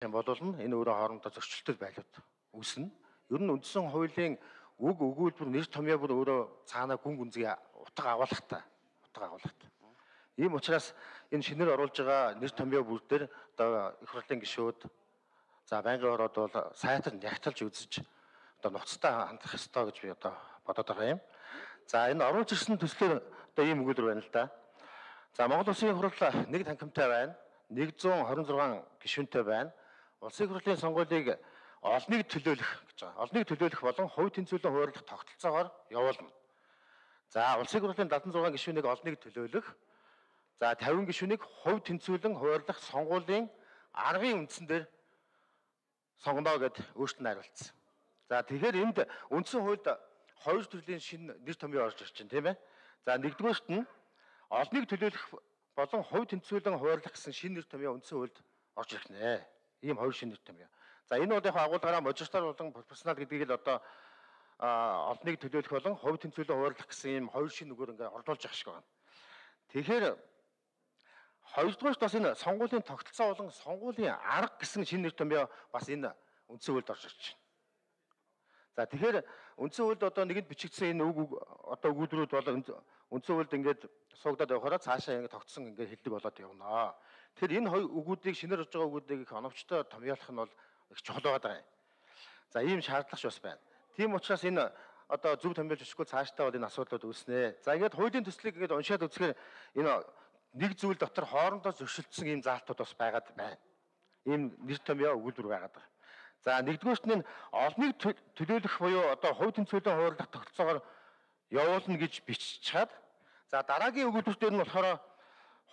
юм бол энэ өөрөө хоорондоо зөрчилдөд байлууд үүснэ. Ер нь үндсэн хуулийн үг өгүүлбэр нэр томьёо бүр өөрөө цаанаа гүн гүнзгий утга агуулгатай. Ийм учраас энэ шинээр оруулж байгаа нэр томьёо бүр дээр одоо их хурлын гишүүд за байнгын ороод бол сайтар нягтлж үзэж одоо нуцтай хандах ёстой гэж би одоо бодоод байгаа юм. За энэ оруулж ирсэн төслөөр одоо ийм өгүүлбэр байна л да. За Монгол Улсын хурал нэг танхимтай байна. 126 гишүүнтэй байна. Улсын хурлын сонгуулийг олныг төлөөлөх гэж байгаа. Олныг төлөөлөх болон хувь тэнцвэрлэн хуваарлах тогтолцоогоор явуулна. За улсын хурлын 76 гишүүнийг олныг төлөөлөх. За 50 гишүүнийг хувь тэнцвэрлэн хуваарлах сонгуулийн аргын үндсэн дээр сонгоно гэд өөрчлөлт найруулсан. За тэгэхээр энд үндсэн хуульд хоёр төрлийн шинэ нэр томьёо орж ирж байна, тийм ээ. За нэгдүгээрт нь олныг төлөөлөх болон хувь тэнцвэрлэн хуваарлах гэсэн шинэ нэр томьёо үндсэн хуульд орж ирэх нэ. Ийм хоёр шинэ нэр томьёо. За энэ бол яг агуулгаараа можистар болон профессионал гэдгийг л одоо олныг төлөөлөх болон хувь тэнцвэрлэн хуваарлах гэсэн ийм хоёр шинэ үгээр ингээд орлуулж явах шиг байна. Тэгэхээр хоёрдугаарт бас энэ сонгуулийн тогтолцоо болон сонгуулийн арга гэсэн шинэ нэр томьёо бас энэ үндсэн хуульд орж ирж байна. За тэгэхээр үндсэн хуульд одоо нэгэнд бичигдсэн энэ үг одоо өгүүлбэрүүд бол үндсэн хуульд ингээд суугдаад явахаараа цаашаа ингээд тогтсон ингээд хэлдэг болоод явна. Тэгэхээр энэ хоёр үгүүдийг шинээр орж байгаа үгүүдийг их оновчтой томьёолох нь бол их чухал байгаа юм. За ийм шаардлага бас байна. Тийм учраас энэ одоо зөв томьёолж өчгөө цаашдаа бол энэ асуудлууд үүснэ. За ингээд хуулийн төслийг ингээд уншаад үзэхээр энэ нэг зүйл дотор хоорондоо зөрчилдсөн ийм заалтууд бас байгаад байна. Ийм нэр томьёо өгүүлбэр байгаад байгаа. За нэгдүгээрт нь олныг төлөөлөх буюу одоо хувь тэнцвэрлэн хуваарлах тогтолцоогоор явуулна гэж бичиж чад. За дараагийн өгүүлбэр дээр нь болохоор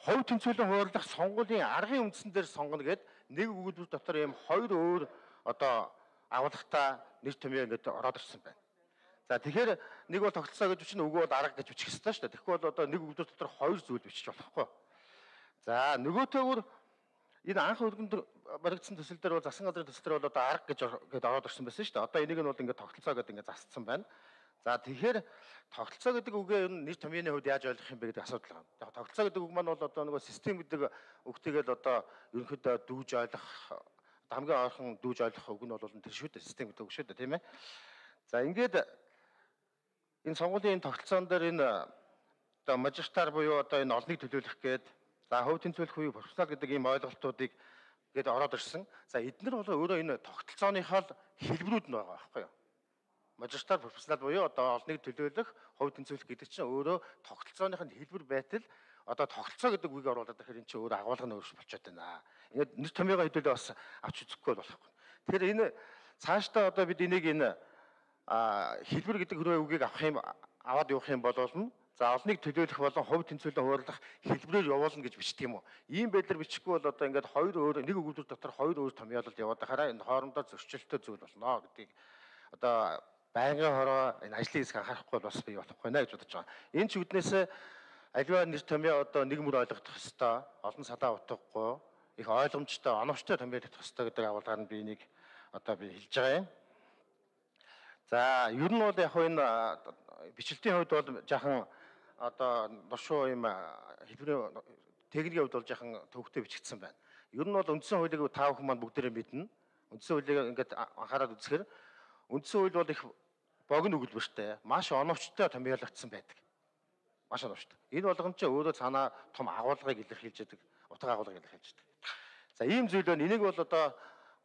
хувь тэнцвэрлэн хуваарлах сонгуулийн аргын үндсэн дээр сонгоно гэд нэг өгүүлбэр дотор ийм хоёр өөр одоо агуулгатай нэр томьёо ингээд ороод ирсэн байна. За тэгэхээр нэг бол тогтолцоо гэж бичнэ, үгүй бол арга гэж бичих ёстой шүү дээ. Тэгэхгүй бол одоо нэг өгүүлбэр дотор хоёр зүйл бичиж болохгүй. За нөгөөтэйгүр энэ анх өргөнд баригдсан төсөл дээр бол засан газрын төсөл дээр бол одоо арга гэж ороод ирсэн байсан шүү дээ. Одоо энийг нь бол ингээд тогтолцоо гэдэг ингээд засцсан байна. За тэгэхээр тогтолцоо гэдэг үгээ ер нь нэр томьёоны хувьд яаж ойлгох юм бэ гэдэг асуудал байна. Яг тогтолцоо гэдэг үг маань бол одоо нөгөө систем гэдэг үгтэйгээл одоо ерөнхийдөө дүүж ойлгох хамгийн ойрхон дүүж ойлгох үг нь бол тэр шүү дээ. Систем гэдэг үг шүү дээ, тийм ээ. За ингээд энэ сонгуулийн тогтолцоон дээр энэ одоо мажистар буюу одоо энэ олныг төлөөлөх гээд за хувь тэнцвэрлэх буюу профессионал гэдэг ийм ойлголтуудыг гээд ороод ирсэн. За эдгээр бол өөрөө энэ тогтолцооныхоо хэлбэрүүд нь байгаа байхгүй юу? Мажистар профессионал буюу одоо олныг төлөөлөх, хувь тэнцвэрлэх гэдэг чинь өөрөө тогтолцооных нь хэлбэр байтал одоо тогтолцоо гэдэг үгийг оруулаад ирэхээр эн чинь өөрөө агуулга нь өөрчлөж болчиход байна. Ингээд нэр томьёогоо хэдүүлээ бас авч үзэхгүй болохгүй. Тэгэхээр энэ цаашдаа одоо бид энийг энэ хэлбэр гэдэг хүрээ үгийг аваад явах юм бол за олныг төлөөлөх болон хувь тэнцвэрлэн хуваарлах хэлбэрээр явуулна гэж бичдэг юм уу? Ийм байдлаар бичихгүй бол одоо ингээд хоёр өөр нэг өгүүлбэр дотор хоёр өөр томьёолол яваад байхаараа энэ хоорондоо зөрчилтэй зүйл болно гэдгийг одоо байнгын хороо энэ ажлын хэсэг анхаарахгүй бас бий болохгүй нэ гэж бодож байгаа. Энэ ч үднээс аливаа нэр томьёо одоо нэг мөр ойлгох ёстой, олон салаа утгахгүй, их ойлгомжтой, оновчтой томьёолох ёстой гэдэг агуулгаар нь би энийг одоо би хэлж байгаа юм. За ер нь бол яг энэ бичлэгтийн хувьд бол жаахан одоо дуршуу юм хэлбэрийн техникийн хувьд бол жаахан төвхтэй бичигдсэн байна. Ер нь бол үндсэн хуулийг та бүхэн маань бүгдээрээ мэднэ. Үндсэн хуулийг ингээд анхаарал үзэхээр үндсэн хууль бол их богино өгүүлбэртэй, маш оновчтой томьёологдсон байдаг. Маш оновчтой. Энэ болгон ч өөрөө цаанаа том агуулгыг илэрхийлж яадаг, утга агуулгыг илэрхийлж яадаг. За ийм зүйл байна. Энийг бол одоо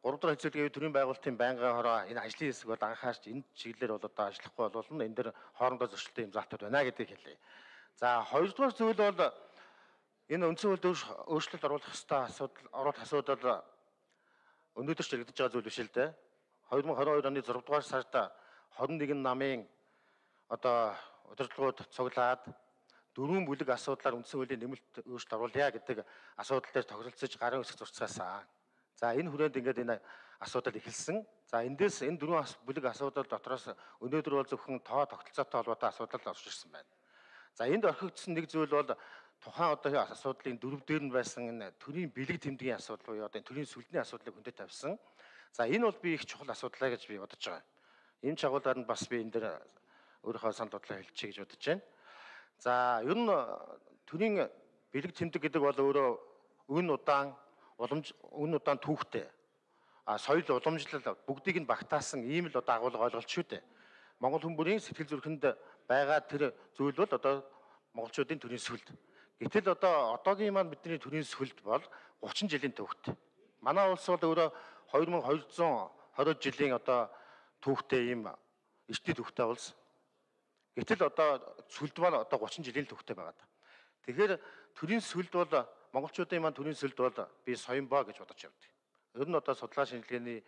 3 дахь хэсэгт төрийн байгуулалтын байнгын хороо энэ ажлын хэсэг бол анхаарч энэ чиглэлээр бол одоо ажиллахгүй болвол энэ дэр хоорондоо зөрчилтэй юм заалтууд байна гэдгийг хэлье. За хоёрдугаар зүйл бол энэ үндсэн хуульд өөрчлөлт оруулах ёстой асуудал өнөөдөр ч яригдж байгаа зүйл биш л дээ. 2022 оны 6 дугаар сард 21 намын одоо удирдлагууд цуглаад 4 бүлэг асуудлаар үндсэн хуулийн нэмэлт өөрчлөлт оруулъя гэдэг асуудал дээр тохиролцож гарын үсэг зурцгаасан. За энэ хүрээнд ингээд энэ асуудал эхэлсэн. За эндээс энэ 4 бүлэг асуудал дотроос өнөөдөр бол зөвхөн тоо тогтолцоотой холбоотой асуудал орж ирсэн байна. За энд орхигдсон нэг зүйл бол тухайн одоо асуудлын дөрөв дээр нь байсан энэ төрийн бэлэг тэмдгийн асуудал буюу одоо төрийн сүлдний асуудлыг хөндөд тавьсан. За энэ бол би их чухал асуудал гэж би бодож байгаа. Энэ чагуулаар нь бас би энэ дээр өөрийнхөө санал бодлоо хэлчихье гэж бодож байна. За ер нь төрийн бэлэг тэмдэг гэдэг бол өөрөө үн удаан түүхтэй соёл уламжлал бүгдийг нь багтаасан ийм л одоо агуулга ойлголт шүү дээ. Монгол хүмүүрийн сэтгэл зүрхэнд байгаа тэр зүйл бол одоо монголчуудын төрийн сүлд. Гэтэл одоогийн маань бидний төрийн сүлд бол 30 жилийн түүхтэй. Манай улс бол өөрөө 2220 жилийн түүхтэй ийм эртний түүхтэй улс. Гэтэл сүлд маань 30 жилийн түүхтэй байгаа. Тэгэхээр төрийн сүлд бол монголчуудын маань төрийн сүлд бол би соёмбоо гэж бодож явдаг. Ер нь судлаа шинжилгээний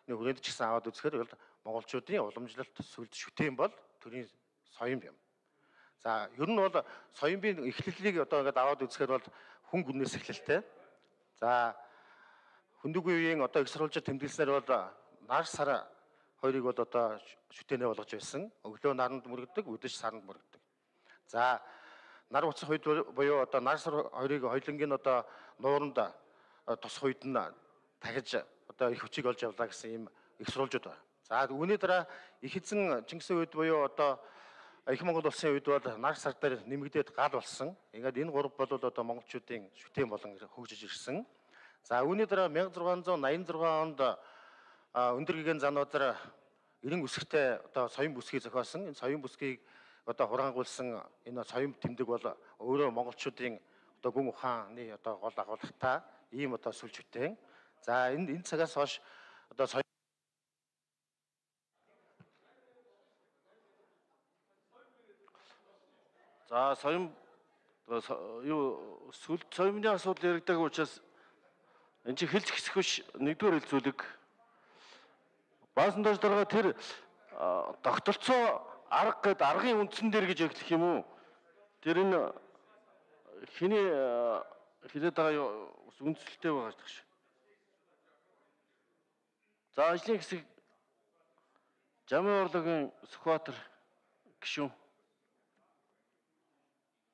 хүрээнд ч гэсэн аваад үзэхээр монголчуудын уламжлалт сүлд шүтээн бол төрийн соём юм. За ер нь бол соёмын эхлэлийг ингээд аваад үзэхээр бол хүн гүнээс эхлэлтэй. За хүндүгийн үеийн их сурвалжид тэмдэглэснээр бол нар сар хоёрыг бол шүтэнэ болгож байсан. Өглөө наранд мөрөгдөг, өдөж саранд мөрөгдөг. За нар уцах үед буюу нар сар хоёрыг хоёлынгийн нууранд тусах үед нь дахиж их хүчийг олж явлаа гэсэн ийм их сурвалжууд байна. За үүний дараа их эзэн Чингисийн үед буюу их Монгол улсын үед бол нар сар дээр нэмэгдээд гал болсон. Ингээд энэ гурав бол монголчуудын шүтээн болон хөгжиж ирсэн. За үүний дараа 1686 онд өндөр гэгээн зануудаар 90 үсгтэй соём бүсгийг зохиосон. Энэ соём бүсгийг хураангуулсан энэ соём тэмдэг бол өөрөө монголчуудын гүн ухааны гол агуулгатай ийм сүлж шүтээн. За энэ цагаас хойш за соём юу сүлд соёмны асуудал яригдаг учраас энэ чинь хэлж хэсэх биш нэгдүгээр хэлцүүлэг. Баасан доош дараа тэр тогтолцоо арга гэд аргын үндсэн дээр гэж эхлэх юм уу? Тэр энэ хэний хэлээд байгаа үндсэлтэй байгаа гэж байна. За ажлын хэсэг Жамын орлогийн Сүхбаатар гишүүн